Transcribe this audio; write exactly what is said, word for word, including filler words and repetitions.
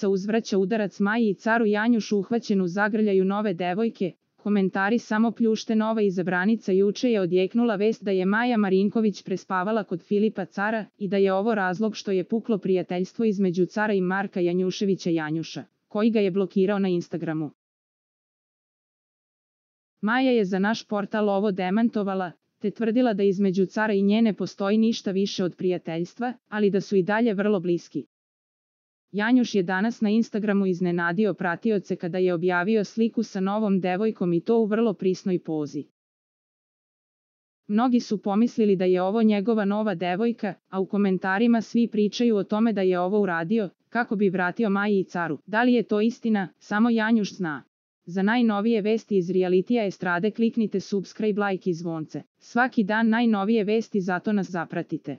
Ivica uzvraća udarac Maji i caru Janjušu uhvaćen u zagrljaju nove devojke. Komentari samo pljušte. Nova izabranica. Juče je odjeknula vest da je Maja Marinković prespavala kod Filipa Cara i da je ovo razlog što je puklo prijateljstvo između Cara i Marka Janjuševića Janjuša, koji ga je blokirao na Instagramu. Maja je za naš portal ovo demantovala, te tvrdila da između Cara i nje ne postoji ništa više od prijateljstva, ali da su i dalje vrlo bliski. Janjuš je danas na Instagramu iznenadio pratioce kada je objavio sliku sa novom devojkom i to u vrlo prisnoj pozi. Mnogi su pomislili da je ovo njegova nova devojka, a u komentarima svi pričaju o tome da je ovo uradio kako bi vratio Maji i Caru. Da li je to istina, samo Janjuš zna. Za najnovije vesti iz realitija estrade kliknite subscribe, like i zvonce. Svaki dan najnovije vesti, zato nas zapratite.